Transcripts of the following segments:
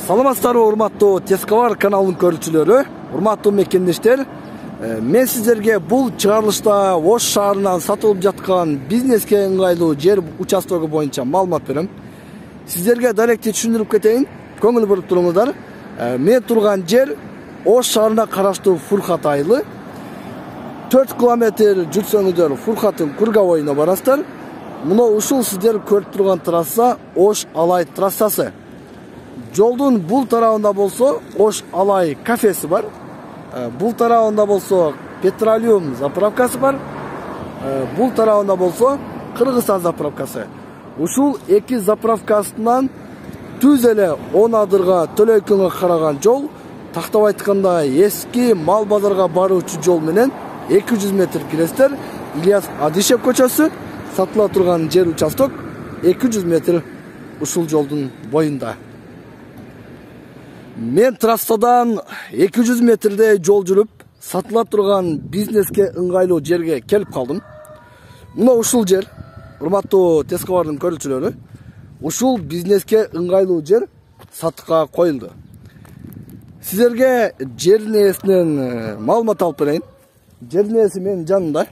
Саламатсыздарбы, урматтуу Тескавар каналынын көрүүчүлөрү, урматтуу мекендештер. Мен сиздерге бул чыгарылышта Ош шаарынан сатылып жаткан бизнеске ыңгайлуу жер участогу боюнча маалымат берем. Сиздерге даректи түшүндүрүп кетейин, көңүл буруп туруңуздар. Мен турган жер Ош шаарына караштуу Фуркат айылы. 4 километр жүрсөңүздөр Фуркаттын Кургабоюна барасыздар. Мына ушул сиздер көрүп турган трасса Ош Алай трассасы. Жолдун бул тарабында болсо Ош Алай кафеси бар. Бул тарабында болсо Петролиум заправкасы бар. Бул тарабында болсо Кыргызстан заправкасы. Ушул эки заправкасынан түз эле 10 адырга Төлөйкөнгө караган жол, тактап айтканда эски мал базарга баруучу жол менен 200 метр киресиздер. Ильяс Адишев көчөсү сатыла турган жер участок 200 метр ушул жолдун боюнда. Мен трассадан 200 метрдей жол жүрүп, сатыла турган бизнеске ыңгайлуу жерге келип калдым. Мына ушул жер, урматтуу Тескавардын көрүүчүлөрү, ушул бизнеске ыңгайлуу жер сатыкка коюлду. Сиздерге жердин ээсинен маалымат алып берейин. Жердин ээси менин жанымда.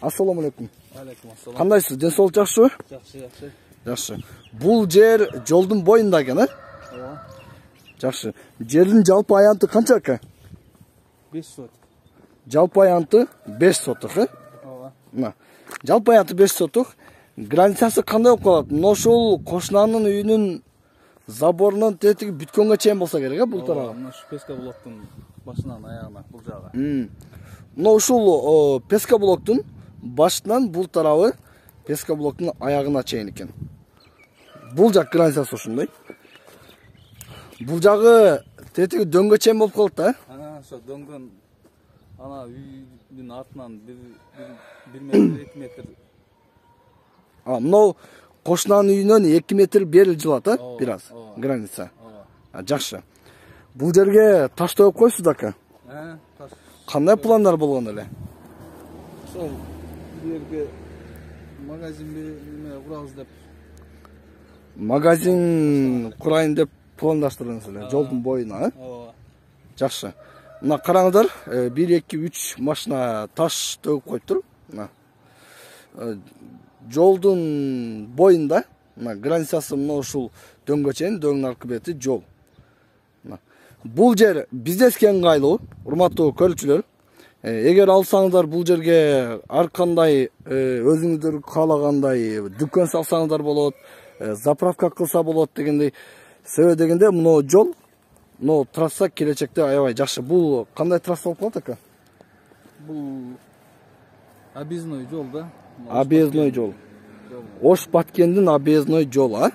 Ассаламу алейкум. Алейкум ассалам. Кандайсыз? Ден соолук жакшыбы? Жакшы. Жакшы. Бул жер жолдун боюнда экен, Ооба. Жакшы. Жердин жалпы аянты канча экен? 5 сот. Жалпы аянты 5 сотук, Ооба. Мына. Жалпы аянты 5 сотук. Границасы кандай болуп калат? Мына ушул кошунанын үйүнүн заборунан тетиги бүткөнгө чейин болсо керек, бул тарабы. Мына ушу Песка блоктун башынан аягына бул жагы. Мына ушул Песка блоктун башынан бул тарабы Песка блоктун аягына чейин экен. Бул жак границасы ошондой. Бул жагы тетиги дөңгө чейин болуп калат да. Ошо дөңгөн ана үйдүн артынан 1 метр 2 метр. Мына кошунанын үйүнөн 2 метр бери жылат, бир аз граница. Жакшы. Бул жерге таш тоюп койсуз ака. Таш. Кандай пландар болгон эле? Ошол жерге магазин неме курабыз деп. Магазин курайын деп пландаштырдыңыз эле, жолдун боюна, Ооба. Жакшы. Мына караңыздар, 1, 2, 3 машина таш төгүп коюптур. Мына. Жолдун боюнда, мына границасы мына ушул дөңгө чейин, дөңдүн аркы бети жол. Мына. Бул жер бизнеске ыңгайлуу, урматтуу көрүүчүлөр. Эгер алсаңыздар бул жерге ар кандай өзүңүздөр каалагандай дүкөн салсаңыздар болот, заправка кылса болот дегендей. Себеби дегенде мына жол, мына трасса келечекте аябай жакшы. Бул кандай трасса болуп калат ака? Бул объездной жол да. Объездной жол. Ош Баткендин объездной жол, Ооба.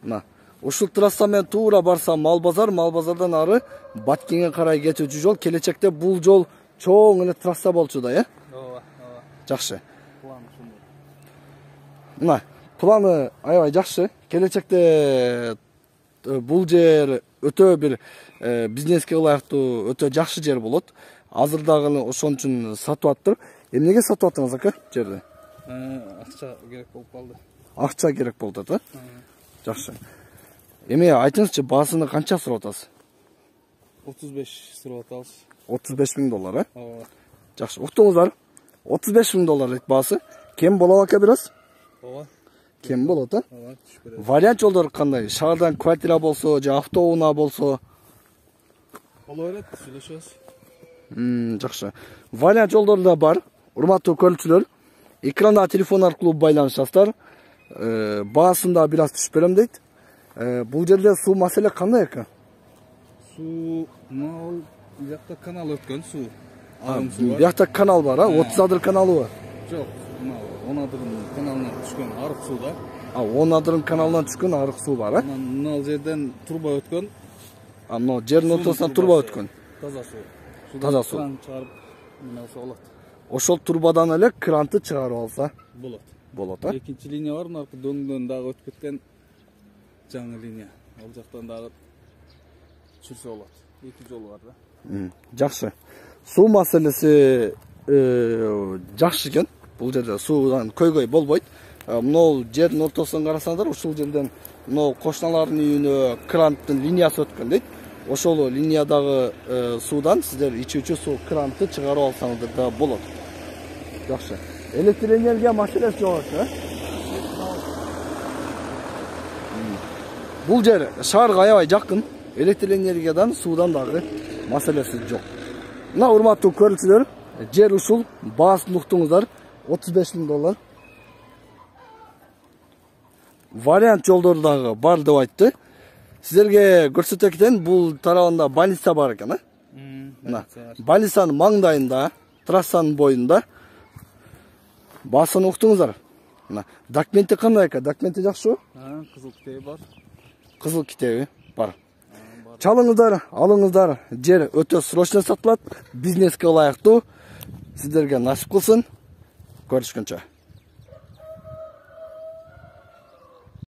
Мына. Ушул трасса менен туура барсам мал базардан ары Баткенге карай кетүүчү жол. Келечекте бул жол чоң эле трасса болчу да, Ооба. Жакшы. План ушундай. Мына, планы аябай жакшы. Келечекте бул жер өтө бир бизнеске ылайыктуу өтө жакшы жер болот. Азыр дагы ошон үчүн сатып аттыр. Эмнеге сатып аттыңыз ака жерди? Акча керек болуп калды. Акча керек болуп атат, Жакшы. Эми айтыңызчы, баасыны канча сурап атасыз? 35 сурап атабыз. $35,000, Ооба. Жакшы. Уктуңуздар. $35,000 дейт баасы. Кем болот ака бир аз? Ооба. Кем болот, Ооба, түшүп берет. Вариант жолдор кандай? Шаардан квартира болсо, же автоунаа болсо? Боло берет, сүйлөшөбүз. Жакшы. Вариант жолдор да бар. Урматтуу көрүүчүлөр, экранда телефон аркылуу байланышасыздар. Баасын да бир аз түшүп берем дейт. Бул жерде суу маселе кандай ака? Суу, мына жакта канал өткөн суу. Бул жакта канал бар, 30 адыр каналы бар. Жок, мына 10 адырдын каналынан түшкөн арык суу да. 10 адырдын каналынан түшкөн арык суу бар, Мына жерден турба өткөн. Мына жердин ортосунан турба өткөн. Таза суу. Таза суу. Кран чыгарып, неме кылса болот. Ошол турбадан эле кранты чыгарып алса Болот. Экинчи линия бар, мына дөңдөн дагы өтүп кеткен жаңы линия. Ал жактан дагы чүрсө болот. 2 жол бар да. Жакшы. Суу маселеси жакшы экен. Бул жерде суудан көйгөй болбойт. Мынау жердин ортосун карасаңдар, ушул жерден мынау кошуналардын үйүнө кранттын линиясы өткөн дейт. Ошол линиядагы суудан сиздер ичүүчү суу крантты чыгарып алсаңыздар да болот. Жакшы. Электр энергия маселеси жок экен. Бул жер шаарга аябай жакын. Электр энергиядан, суудан дагы маселеси жок. Мына урматтуу көрүүчүлөр, жер ушул, баасын уктуңуздар, $35,000. Вариант жолдору дагы бар деп айтты. Сиздерге көрсөтө кетейин, бул тарабында больница бар экен, Мына больницанын маңдайында, трассанын боюнда. Баасын уктуңуздар. Мына документи кандай экен? Документи жакшыбы? Кызыл китеби бар. Кызыл китеби бар. Чалыңыздар, алыңыздар. Жер өтө срочно сатылат. Бизнеске ылайыктуу. Сиздерге насип кылсын. Көрүшкөнчө.